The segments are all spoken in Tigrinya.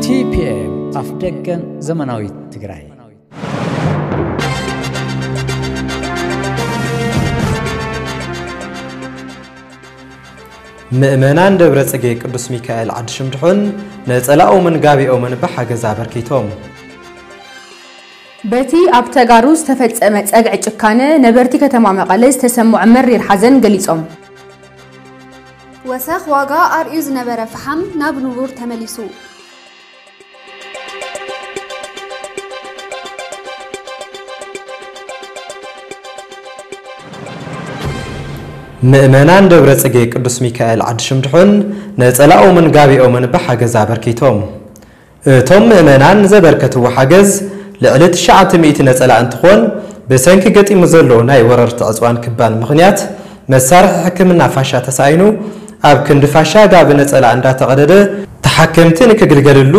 ቲፒኤም ኣፍ ደገን ዘመናዊት ትግራይ። ምእመናን ደብረ ጽጌ ቅዱስ ሚካኤል ዓዲ ሽምድሑን ነጸላኦምን ጋቢኦምን ብሓገዝ ኣበርኪቶም። በቲ ኣብ ተጋሩ ዝተፈጸመ ጸግዒ ጭካነ ነበርቲ ከተማ መቐለ ዝተሰምዖ መሪር ሓዘን ገሊጾም። ወሰኽ ዋጋ ኣርእዩ ዝነበረ ፈሓም ናብ ንቡር ተመሊሱ። ምእመናን ደብረ ጽጌ ቅዱስ ሚካኤል ዓዲ ሽምድሑን ነጸላኦምን ጋቢኦምን ብሓገዝ ኣበርኪቶም። እቶም ምእመናን ዘበርከትዎ ሓገዝ ልዕሊ ትሽዓተ ሚእቲ ነጸላ እንትኾን፣ ብሰንኪ ገጢሙ ዘሎ ናይ ወረርቲ ዕጽዋን ክባን ምኽንያት መሳርሒ ሕክምና ፋሻ ተሳኢኑ ኣብ ክንዲ ፋሻ ጋቢ ነጸላ እንዳተቐደደ ተሓከምቲ ንክግልገለሉ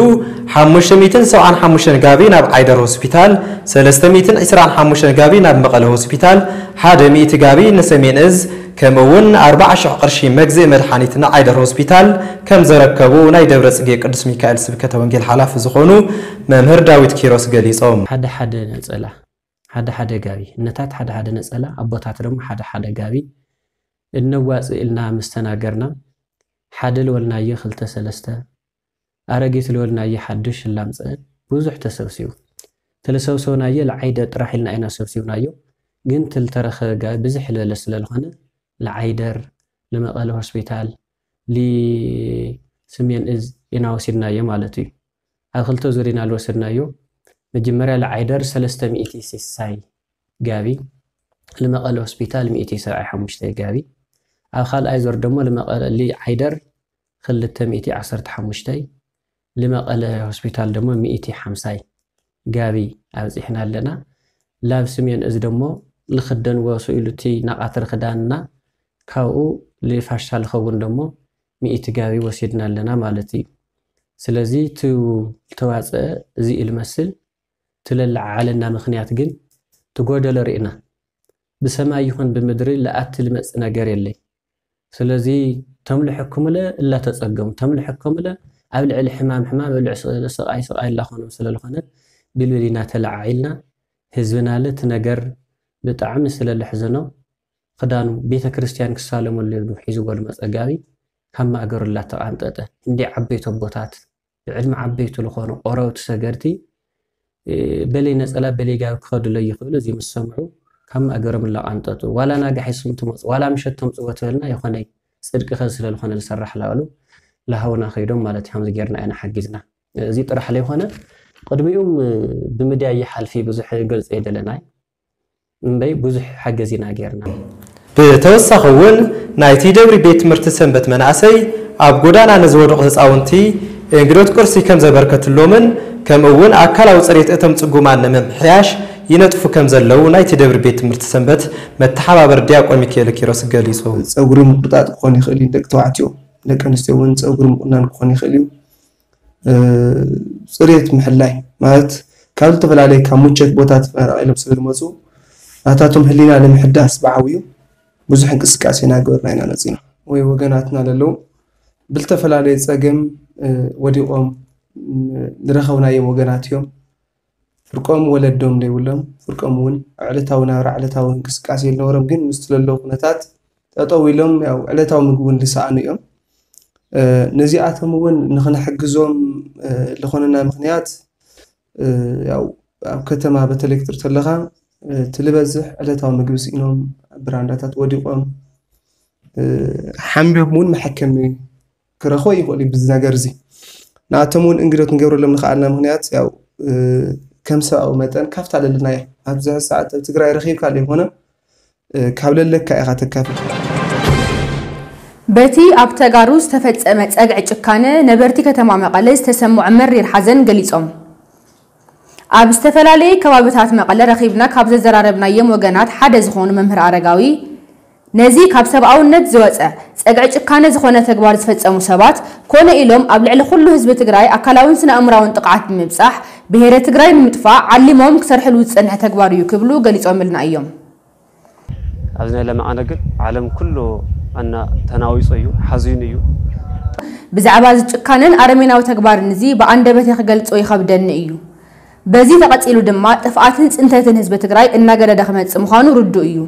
ሓሙሽተ ሚእትን ሰብዓን ሓሙሽተን ጋቢ ናብ ዓይደር ሆስፒታል፣ ሰለስተ ሚእትን ዕስራን ሓሙሽተን ጋቢ ናብ መቐለ ሆስፒታል፣ ሓደ ሚእቲ ጋቢ ንሰሜን እዝ ከምኡ እውን ኣርባዓ ሽሕ ቅርሺ መግዝኢ መድሓኒት ንዓይደር ሆስፒታል ከም ዘረከቡ ናይ ደብረ ጽጌ ቅዱስ ሚካኤል ስብከተ ወንጌል ሓላፊ ዝኾኑ መምህር ዳዊት ኪሮስ ገሊጾም። ሓደ ሓደ ነጸላ፣ ሓደ ሓደ ጋቢ፣ እነታት ሓደ ሓደ ነጸላ፣ ኣቦታት ደግሞ ሓደ ሓደ ጋቢ እነዋጽእ ኢልና ምስ ተናገርና፣ ሓደ ልበልናዮ ክልተ ሰለስተ፣ ኣረጊት ልበልናዮ ሓድሽ ላምጽአ፣ ብዙሕ ተሰብሲቡ። ተለሰብሰብናዮ ለዓይደር ጥራሕ ኢልና ኢና ሰብሲብናዮ፣ ግን ትልተረኸ ጋቢ ብዝሕ ልበለ ስለ ዝኾነ ለዓይደር፣ ልመቐለ ሆስፒታል፣ ሊስሜን እዝ ኢና ወሲድናዮ ማለት እዩ። ኣብ ክልተ ዙር ኢና ልወሰድናዮ። መጀመርያ ለዓይደር ሰለስተ ሚእቲ ስሳይ ጋቢ፣ ልመቐለ ሆስፒታል ሚእቲ ሰብዓይ ሓሙሽተ ጋቢ፣ ኣብ ካልኣይ ዙር ደሞ ልመቐለ ሊዓይደር ክልተ ሚእቲ ዓሰርተ ሓሙሽተ፣ ልመቐለ ሆስፒታል ደሞ ሚእቲ ሓምሳይ ጋቢ ኣብጺሕና ኣለና። ላብ ስሜን እዚ ደሞ ልኽደንዎ ስኢሉ እቲ ናቓትር ክዳንና ካብኡ ልፋሻ ልኸውን ደሞ ሚእቲ ጋቢ ወሲድና ኣለና ማለት እዩ። ስለዚ እቲ ልተዋፅአ እዚ እዩ ልመስል። እቲ ለለዓዓለና ምኽንያት ግን ትጎደሎ ርኢና። ብሰማይ ይኹን ብምድሪ ልኣቲ ልመጽእ ነገር የለይ። ስለዚ ተምልሐኩምለ እላተጸገሙ፣ ተምልሐኩምለ ኣብ ልዕሊ ሕማም ሕማም፣ ኣብ ልዕሊ ስቕ-፣ ስቓይ ስቓይ እላኾኖም ስለ ዝኾነ ብልብል ኢና ተለዓዒልና። ህዝብና ለ እቲ ነገር ብጣዕሚ ስለ ልሕዘኖ ክዳኑ ቤተ ክርስቲያን ክሳለመሉ ኢሉ ሒዝዎ ልመጸ ጋቢ ካብ ማእገሩ እላተቓንጠጠ። እንዲ ዓበይቲ ኣቦታት ብዕድመ ዓበይቲ ልኾኑ ቆረብቲ ሰገርቲ፣ እ፣ በለይ ነጸላ በለይ ጋቢ ክኸዱለይ ይኽእሉ፣ እዚ ምስ ሰምዑ ካብ ማእገሮም እላቓንጠጡ። ዋላ ናጋ ሒዝኩም ትመጹ፣ ዋላ ምሸት ተምጽዎ ትበልና ይኾነይ፣ ጽድቂ ከ ስለ ልኾነ ልሰራሕ ላበሉ ላሃውና ከይዶም ማለት እዩ። ከምዚ ጌርና ኢና ሓጊዝና። እዚ ጥራሕ ለይኾነ ቅድሚኡም፣ እ፣ ብምድያ ይሓልፊ ብዙሕ ገልጸ የደለናይ። እምበይ ብዙሕ ሓገዝ ኢና ጌርና። ብተወሳኺ እውን ናይቲ ደብሪ ቤት ትምህርቲ ሰንበት መናእሰይ ኣብ ጎዳና ንዝወደቑ ህፃውንቲ እንግዶት ቁርሲ ከም ዘበርከትሎምን ከምኡ እውን ኣካላዊ ፅሬት እቶም ፅጉማን ንምምሕያሽ ይነጥፉ ከም ዘለዉ ናይቲ ደብሪ ቤት ትምህርቲ ሰንበት መተሓባበር ዲያቆን ሚካኤል ኪሮስ ገሊፁ። ፀጉሪ ምቁርጣጥ ክኾን ይኽእል እዩ፣ ደቂ ተባዕትዮ፣ ደቂ ኣንስትዮ እውን ፀጉሪ ምቁናን ክኾን ይኽእል እዩ። እ፣ ፅሬት ምሕላይ ማለት ካብ ዝተፈላለዩ ካብ ሙቸት ቦታ ተፈናቒሎም ስለ ዝመፁ ናታቶም ህሊና ንምሕዳስ ብዓብዩ ብዙሕ እንቅስቃሴ እናገበርና ኢና መፂና። ወይ ወገናትና ለለዉ ብልተፈላለየ ፀገም፣ እ፣ ወዲቖም፣ እ፣ ዝረኸብናዮም ወገናት እዮም። ፍርቆም ወለዶም ዘይብሎም፣ ፍርቆም እውን ዕለታዊ ናብራ፣ ዕለታዊ እንቅስቃሴ ዝነበሮም ግን ምስቲ ለለዉ ኩነታት ጠጠው ኢሎም ያው ዕለታዊ ምግቢ እውን ዝሰኣኑ እዮም። እ፣ ነዚኣቶም እውን ንኽንሕግዞም፣ እ፣ ዝኾነና ምኽንያት፣ እ፣ ያው ኣብ ከተማ በተለይ ክትርኢ ተለኻ፣ እ፣ እቲ ልበዝሕ ዕለታዊ ምግቢ ስኢኖም፣ ኣብ ብራንዳታት ወዲቖም፣ እ፣ ሓሚሞም እውን መሐከሚ ክረኽቦ ይኽእል እዩ። ብዚ ነገር እዚ ንኣቶም እውን እንግዶት ንገብረሎም ንኽኣልና ምኽንያት ያው፣ እ፣ ከም ሰብኣዊ መጠን ካብታ ለለናያ ኣብዚ ሰዓት ኣብ ትግራይ ረኺብካ ዘይኮነ፣ እ፣ ካብ ለለካ ኢኻ ተካፍል። በቲ ኣብ ተጋሩ ዝተፈጸመ ጸግዒ ጭካነ ነበርቲ ከተማ መቐለ ዝተሰምዖ መሪር ሓዘን ገሊጾም። ኣብ ዝተፈላለየ ከባብታት መቐለ ረኺብና ካብ ዘዘራረብናዮም ወገናት ሓደ ዝኾኑ መምህር ኣረጋዊ፣ ነዚ ካብ ሰብኣውነት ዝወጸ ጸግዒ ጭካነ ዝኾነ ተግባር ዝፈጸሙ ሰባት ኮነ ኢሎም ኣብ ልዕሊ ኩሉ ህዝቢ ትግራይ ኣካላውን ስነ ኣእምራውን ጥቕዓት ብምብጻሕ ብሄረ ትግራይ ንምጥፋእ ዓሊሞም ክሰርሕሉ ዝጸንሐ ተግባር እዩ ክብሉ ገሊጾምልና እዮም። ኣብዚ ናይ ለማዓነ ግን ዓለም ኩሉ ኣና ተናዊጹ እዩ፣ ሓዚኑ እዩ። ብዛዕባ እዚ ጭካነን ኣረሜናዊ ተግባርን እዚ ብኣንደበተይ ክገልጾ ይኸብደኒ እዩ። በዚ ተቐጺሉ ድማ ጥፍኣትን ጽንተትን ህዝቢ ትግራይ እናገደደ ክመጽእ ምዃኑ ርዱእ እዩ።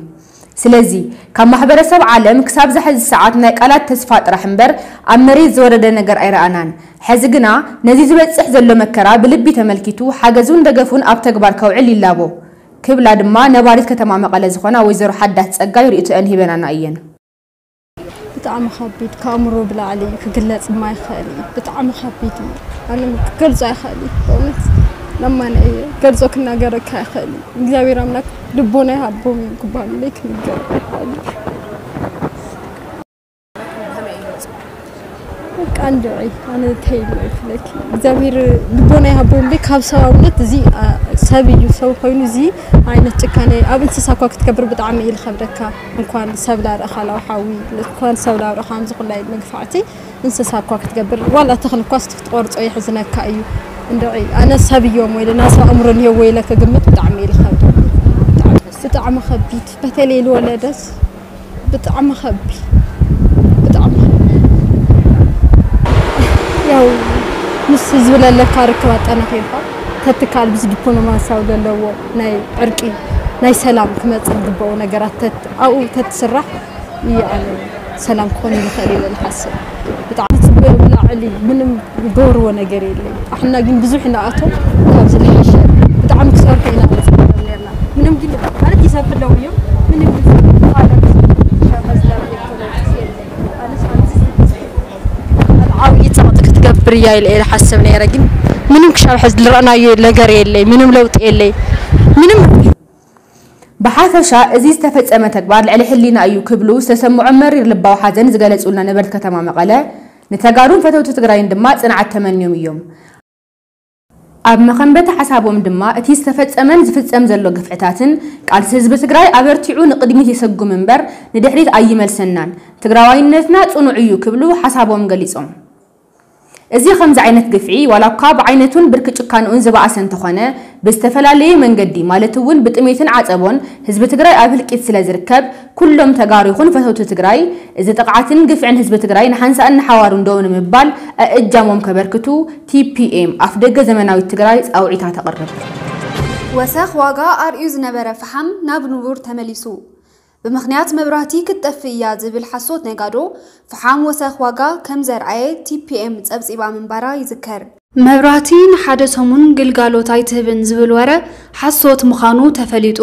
ስለዚ ካብ ማሕበረሰብ ዓለም ክሳብ ዛሕዚ ሰዓት ናይ ቃላት ተስፋ ጥራሕ እምበር ኣብ መሬት ዝወረደ ነገር ኣይረኣናን። ሕዚ ግና ነዚ ዝበጽሕ ዘሎ መከራ ብልቢ ተመልኪቱ ሓገዙን ደገፉን ኣብ ተግባር ከውዕል ይላቦ ክብላ ድማ ነባሪት ከተማ መቐለ ዝኾና ወይዘሮ ሓዳስ ጸጋይ ርእይቶአን ሂበናና እየን። ብጣዕሚ ከቢድ፣ ከኣእምሮ ብላዕሊ እዩ፣ ክግለጽ ድማ ይኽእል እዩ። ብጣዕሚ ከቢድ እዩ። ኣነ ክገልጾ ኣይኽእል እዩ። በእውነት ለማኒ እየ፣ ገልጾ ክናገረካ ኣይኽእል እዩ። እግዚኣብሔር ኣምላክ ልቦና ይሃቦም እዩ ክበሃል እምበይ ክንገር ኣይኽእል እዩ። በቃ እንድዒ ኣነ እንታይ ኢለ ይፍለኪ እግዚኣብሔር ልቦና ይሃቦም እምበይ ካብ ሰብኣውነት እዚ ኣ፣ ሰብ እዩ ሰብ ኮይኑ እዚ ዓይነት ጭካኔ ኣብ እንስሳ እኳ ክትገብር ብጣዕሚ እዩ ዝኸብደካ። እንኳን ሰብ ላርእ ካላዊ ሓዊ እንኳን ሰብ ላርእ ከምዚ ኩላይ መግፋዕቲ እንስሳ እኳ ክትገብር ዋላ ተኽሊ እኳ እስቲ ክትቆርጾ የሕዝነካ እዩ። እንድዒ ኣነ ሰብ እዮም ወይ ናሳ ኣእምሮ እንሄዎ ኢለ ክግምት ብጣዕሚ እዩ ዝኸብደኒ። ብጣዕሚ ከቢድ በተለይ ልወለደት ብጣዕሚ ከቢድ ብጣዕሚ ከቢድ። ያው ምስ ህዝቢ ለለካ ርክብ ኣጠናኺርካ ተትካል ምስ ዲፕሎማሲያዊ ዘለዎ ናይ ዕርቂ ናይ ሰላም ክመፅእ ዝግበኦ ነገራት ተት ኣብኡ ተትስራሕ ይኣነ ሰላም ክኾን ይኽእል ኢለ ዝሓስብ። ብጣዕሚ ጽቡቅ ብላዕሊ ምንም ዝገብርዎ ነገር የለይ። ኣሕና ግን ብዙሕ ንኣቶም ካብዚ ዝሓሸ ብጣዕሚ ክሰርሑ ኢና ንጽበዮም ነርና። ምንም ግን ማለት ይሰብሕለው እዮም ምንም ግን ዓብዪ ጸቕጢ ክትገብር እያ ኢለ እየ ዝሓስብ ነይረ ግን ምንም ክሻብ ሕዚ ዝረእናዮ ነገር የለይ ምንም ለውጢ የለይ ምንም ብሓፈሻ እዚ ዝተፈጸመ ተግባር ልዕሊ ሕሊና እዩ ክብሉ ዝተሰምዖም መሪር ልባዊ ሓዘን ዝገለጹልና ነበርቲ ከተማ መቐለ ንተጋሩን ፈተውቲ ትግራይን ድማ ጽንዓት ተመንዮም እዮም። ኣብ መኸንበቲ ሓሳቦም ድማ እቲ ዝተፈጸመን ዝፍጸም ዘሎ ግፍዕታትን ቃልሲ ህዝቢ ትግራይ ኣበርቲዑ ንቕድሚት የሰጉም እምበር ንድሕሪት ኣይመልሰናን፣ ትግራዋይነትና ጽኑዕ እዩ ክብሉ ሓሳቦም ገሊጾም። እዚ ከምዚ ዓይነት ግፍዒ ዋላ እኳ ብዓይነቱን ብርኪ ጭካንኡን ዝበኣሰ እንተኾነ ብዝተፈላለየ መንገዲ ማለት እውን ብጥሜትን ዓፀቦን ህዝቢ ትግራይ ኣብ ህልቂት ስለ ዝርከብ ኩሎም ተጋሩ ይኹን ፈተውቲ ትግራይ እዚ ጥቕዓትን ግፍዕን ህዝቢ ትግራይ ንሓንሳእን ንሓዋሩን ደው ንምባል ኣእጃሞም ከበርክቱ ቲ ፒ ኤም ኣፍደገ ዘመናዊት ትግራይ ፃውዒታ ተቕርብ። ወሰኽ ዋጋ ኣርእዩ ዝነበረ ፈሓም ናብ ንቡር ተመሊሱ። ብምኽንያት መብራህቲ ክትጠፍእ እያ ዝብል ሓሶት ነጋዶ፣ ፈሓም ወሰኽ ዋጋ ከም ዘርኣየ ቲ ፒ ኤም ጸብጺባ ምንባራ ይዝከር። መብራህቲ ንሓደ ሰሙን ግልጋሎት ኣይትህብን ዝብል ወረ ሓሶት ምዃኑ ተፈሊጡ።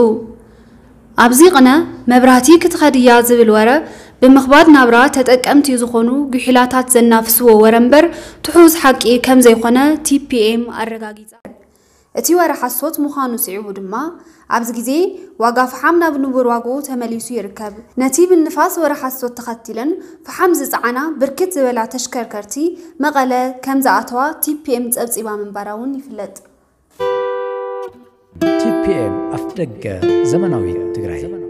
ኣብዚ ቕነ፣ መብራህቲ ክትኸድ እያ ዝብል ወረ ብምኽባድ ናብራ ተጠቀምቲ ዝኾኑ ጉሒላታት ዘናፍስዎ ወረ እምበር ትሑዝ ሓቂ ከም ዘይኮነ ቲ ፒ ኤም ኣረጋጊጻ። እቲ ወረ ሓሶት ምዃኑ ስዒቡ ድማ፣ ኣብዚ ግዜ ዋጋ ፈሓም ናብ ንቡር ዋግኡ ተመሊሱ ይርከብ። ነቲ ብንፋስ ወረ ሓሶት ተኸቲለን ፈሓም ዝጸዓና ብርክት ዝበላ ተሽከርከርቲ መቐለ ከም ዝኣተዋ ቲ ፒ ኤም ጸብጺባ ምንባራ እውን ይፍለጥ። ቲ ፒ ኤም ኣፍደገ ዘመናዊት ትግራይ።